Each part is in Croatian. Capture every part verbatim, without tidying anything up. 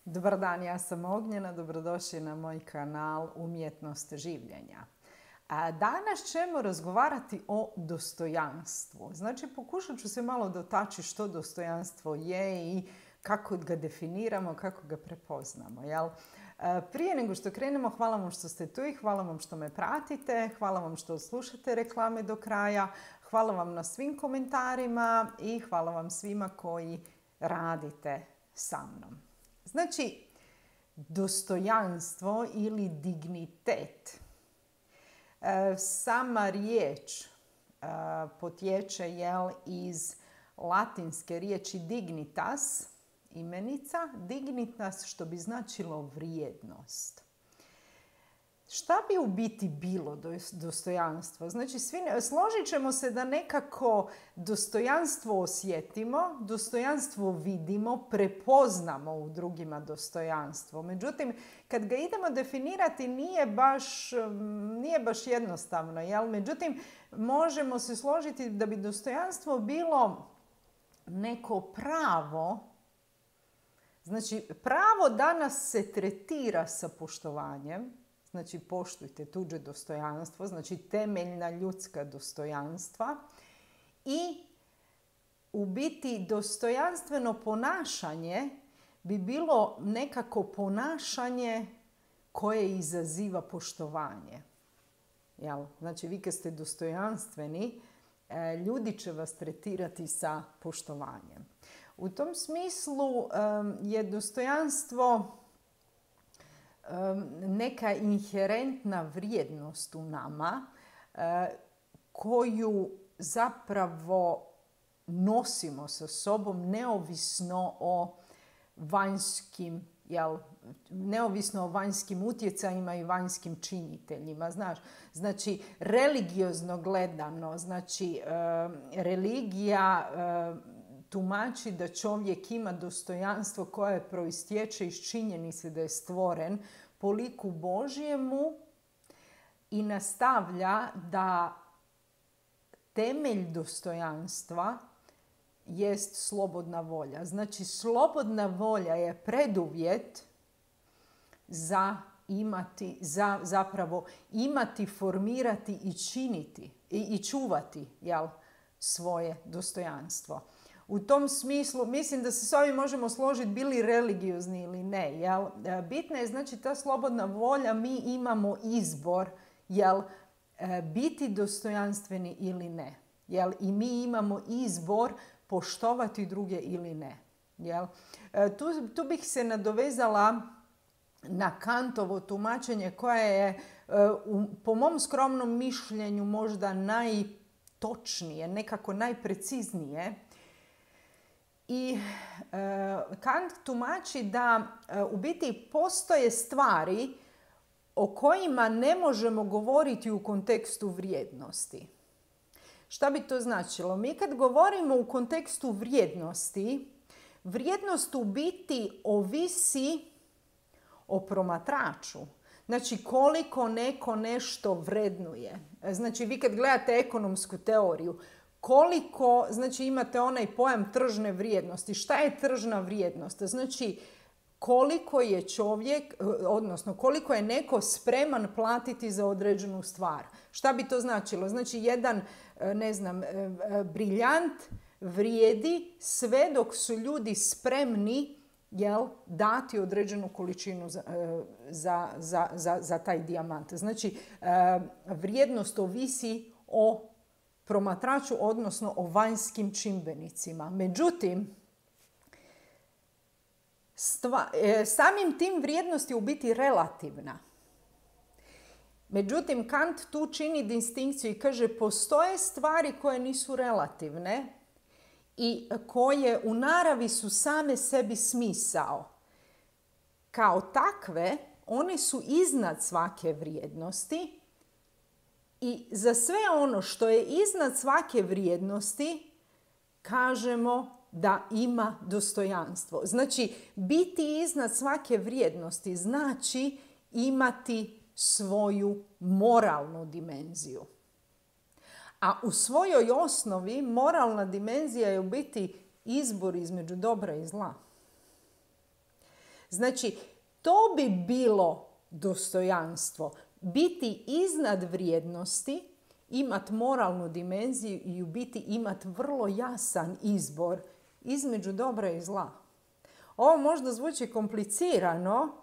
Dobar dan, ja sam Ognjena, dobrodošli na moj kanal Umjetnost življenja. A danas ćemo razgovarati o dostojanstvu. Znači, pokušat ću se malo dotaći što dostojanstvo je i kako ga definiramo, kako ga prepoznamo. Jel? Prije nego što krenemo, hvala vam što ste tu i hvala vam što me pratite, hvala vam što slušate reklame do kraja, hvala vam na svim komentarima i hvala vam svima koji radite sa mnom. Znači, dostojanstvo ili dignitet. Sama riječ potječe jel, iz latinske riječi dignitas, imenica, dignitas što bi značilo vrijednost. Šta bi u biti bilo dostojanstvo? Znači, svi, složit ćemo se da nekako dostojanstvo osjetimo, dostojanstvo vidimo, prepoznamo u drugima dostojanstvo. Međutim, kad ga idemo definirati nije baš, nije baš jednostavno. Jel? Međutim, možemo se složiti da bi dostojanstvo bilo neko pravo. Znači, pravo da nas se tretira sa poštovanjem. Znači, poštujte tuđe dostojanstvo, znači temeljna ljudska dostojanstva. I u biti dostojanstveno ponašanje bi bilo nekako ponašanje koje izaziva poštovanje. Jel? Znači, vi kad ste dostojanstveni, ljudi će vas tretirati sa poštovanjem. U tom smislu je dostojanstvo neka inherentna vrijednost u nama koju zapravo nosimo sa sobom neovisno o vanjskim, jel, neovisno o vanjskim utjecajima i vanjskim činiteljima. Znaš, znači, religiozno gledano, znači, religija tumači da čovjek ima dostojanstvo koje proistječe iz činjenice da je stvoren po liku Božjemu i nastavlja da temelj dostojanstva jest slobodna volja. Znači, slobodna volja je preduvjet za imati, za zapravo imati, formirati i činiti i, i čuvati, jel, svoje dostojanstvo. U tom smislu, mislim da se s ovim možemo složiti bili religiozni ili ne. Jel? Bitna je znači ta slobodna volja, mi imamo izbor, jel, biti dostojanstveni ili ne. Jel? I mi imamo izbor poštovati druge ili ne. Jel? Tu, tu bih se nadovezala na Kantovo tumačenje koje je po mom skromnom mišljenju možda najtočnije, nekako najpreciznije. I e, Kant tumači da e, u biti postoje stvari o kojima ne možemo govoriti u kontekstu vrijednosti. Šta bi to značilo? Mi kad govorimo u kontekstu vrijednosti, vrijednost u biti ovisi o promatraču. Znači, koliko neko nešto vrednuje. Znači, vi kad gledate ekonomsku teoriju, koliko, znači imate onaj pojam tržne vrijednosti. Šta je tržna vrijednost? Znači, koliko je čovjek, odnosno koliko je neko spreman platiti za određenu stvar. Šta bi to značilo? Znači, jedan, ne znam, briljant vrijedi sve dok su ljudi spremni, jel, dati određenu količinu za, za, za, za, za taj dijamant. Znači, vrijednost ovisi o promatraču, odnosno o vanjskim čimbenicima. Međutim, stva, e, samim tim vrijednost je u biti relativna. Međutim, Kant tu čini distinkciju i kaže postoje stvari koje nisu relativne i koje u naravi su same sebi smisao. Kao takve, one su iznad svake vrijednosti. I za sve ono što je iznad svake vrijednosti kažemo da ima dostojanstvo. Znači, biti iznad svake vrijednosti znači imati svoju moralnu dimenziju. A u svojoj osnovi moralna dimenzija je u biti izbor između dobra i zla. Znači, to bi bilo dostojanstvo. Biti iznad vrijednosti, imati moralnu dimenziju i u biti imati vrlo jasan izbor između dobra i zla. Ovo možda zvuči komplicirano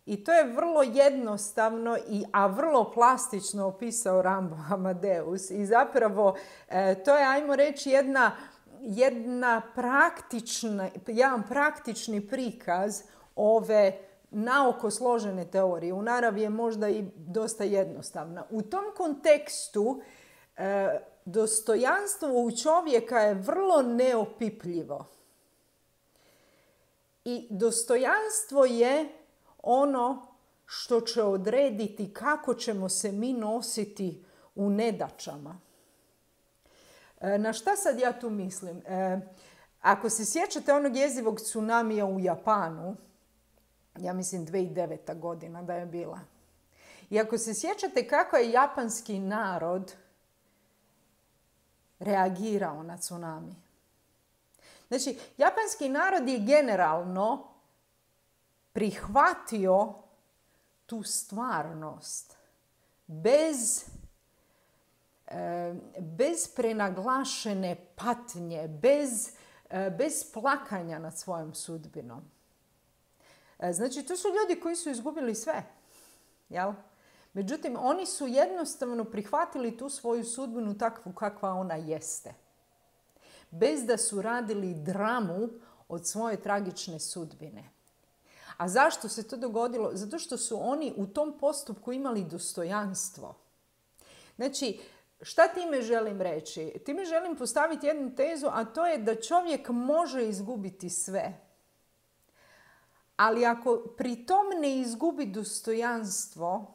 i to je vrlo jednostavno, i, a vrlo plastično opisao Rambo Amadeus. I zapravo e, to je, ajmo reći, jedna, jedna praktična, jedan praktični prikaz ove naoko složene teorije. U naravi je možda i dosta jednostavna. U tom kontekstu e, dostojanstvo u čovjeka je vrlo neopipljivo. I dostojanstvo je ono što će odrediti kako ćemo se mi nositi u nedaćama. E, na šta sad ja tu mislim? E, ako se sjećate onog jezivog tsunamija u Japanu, ja mislim dvije tisuće deveta godina da je bila. I ako se sjećate kako je japanski narod reagirao na tsunami. Znači, japanski narod je generalno prihvatio tu stvarnost bez, e, bez prenaglašene patnje, bez, e, bez plakanja nad svojom sudbinom. E, znači, to su ljudi koji su izgubili sve. Jel? Međutim, oni su jednostavno prihvatili tu svoju sudbinu takvu kakva ona jeste. Bez da su radili dramu od svoje tragične sudbine. A zašto se to dogodilo? Zato što su oni u tom postupku imali dostojanstvo. Znači, šta time želim reći? Time želim postaviti jednu tezu, a to je da čovjek može izgubiti sve. Ali ako pri tom ne izgubi dostojanstvo,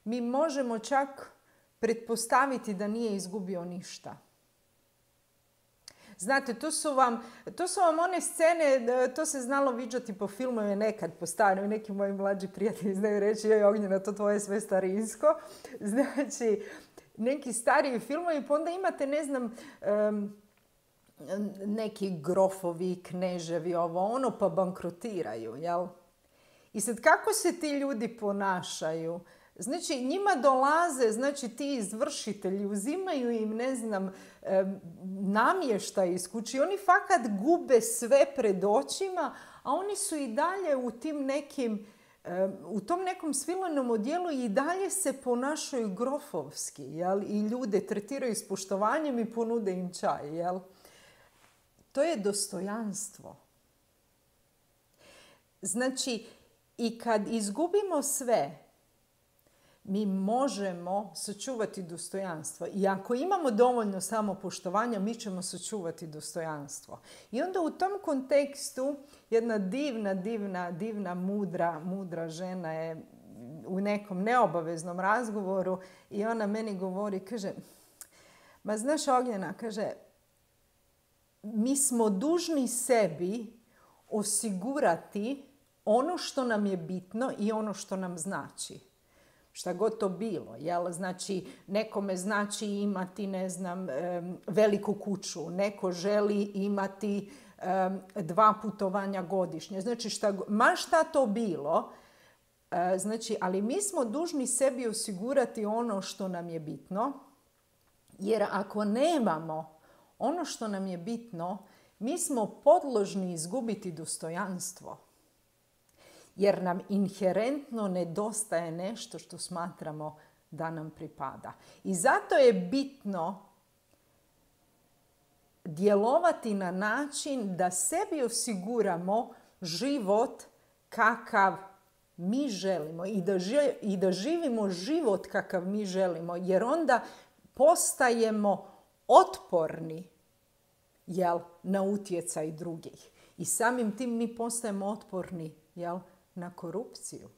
mi možemo čak pretpostaviti da nije izgubio ništa. Znate, to su vam, to su vam one scene, to se znalo viđati po filmovima nekad, po starim, neki moji mlađi prijatelji znaju reći, joj Ognjena, to tvoje sve starinsko. Znači, neki stariji filmovi, pa onda imate, ne znam, um, neki grofovi, kneževi, ovo ono, pa bankrotiraju, jel? I sad kako se ti ljudi ponašaju? Znači, njima dolaze, znači, ti izvršitelji, uzimaju im, ne znam, namještaj iz kuće. Oni fakat gube sve pred očima, a oni su i dalje u tim nekim, u tom nekom svilenom odjelu i dalje se ponašaju grofovski, jel? I ljude tretiraju s poštovanjem i ponude im čaj, jel? To je dostojanstvo. Znači, i kad izgubimo sve, mi možemo sačuvati dostojanstvo. I ako imamo dovoljno samopoštovanja, mi ćemo sačuvati dostojanstvo. I onda u tom kontekstu jedna divna, divna, divna, mudra, mudra žena je u nekom neobaveznom razgovoru i ona meni govori, kaže, ma znaš Ognjena, kaže, mi smo dužni sebi osigurati ono što nam je bitno i ono što nam znači. Šta god to bilo, jel? Znači, nekome znači imati, ne znam, veliku kuću, neko želi imati dva putovanja godišnje. Znači, šta, ma šta to bilo, znači, ali mi smo dužni sebi osigurati ono što nam je bitno, jer ako nemamo ono što nam je bitno, mi smo podložni izgubiti dostojanstvo. Jer nam inherentno nedostaje nešto što smatramo da nam pripada. I zato je bitno djelovati na način da sebi osiguramo život kakav mi želimo i da, ži, i da živimo život kakav mi želimo, jer onda postajemo otporni, jel, na utjecaj drugih. I samim tim mi postajemo otporni, jel, na korupciju.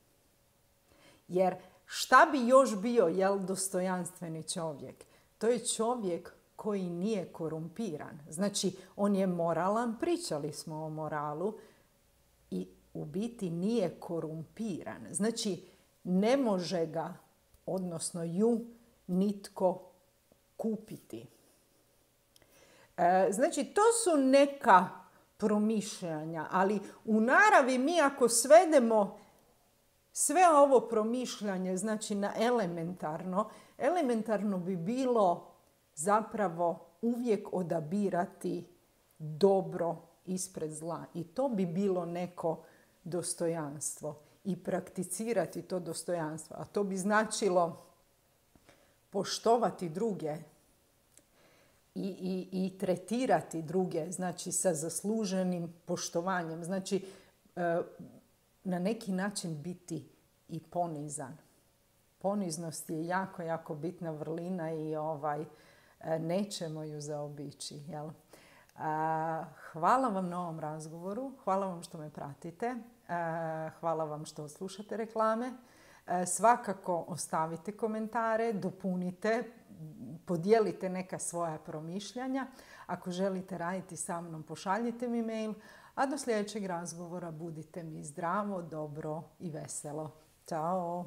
Jer šta bi još bio, jel, dostojanstveni čovjek? To je čovjek koji nije korumpiran. Znači, on je moralan, pričali smo o moralu, i u biti nije korumpiran. Znači, ne može ga, odnosno ju, nitko kupiti. E, znači, to su neka promišljanja. Ali u naravi mi ako svedemo sve ovo promišljanje, znači na elementarno, elementarno bi bilo zapravo uvijek odabirati dobro ispred zla. I to bi bilo neko dostojanstvo. I prakticirati to dostojanstvo. A to bi značilo poštovati druge i, i, i tretirati druge, znači sa zasluženim poštovanjem. Znači, na neki način biti i ponizan. Poniznost je jako, jako bitna vrlina i ovaj, nećemo ju zaobići. Jel? Hvala vam na ovom razgovoru, hvala vam što me pratite, hvala vam što slušate reklame. Svakako ostavite komentare, dopunite, podijelite neka svoja promišljanja. Ako želite raditi sa mnom, pošaljite mi mail, a do sljedećeg razgovora budite mi zdravo, dobro i veselo. Ćao!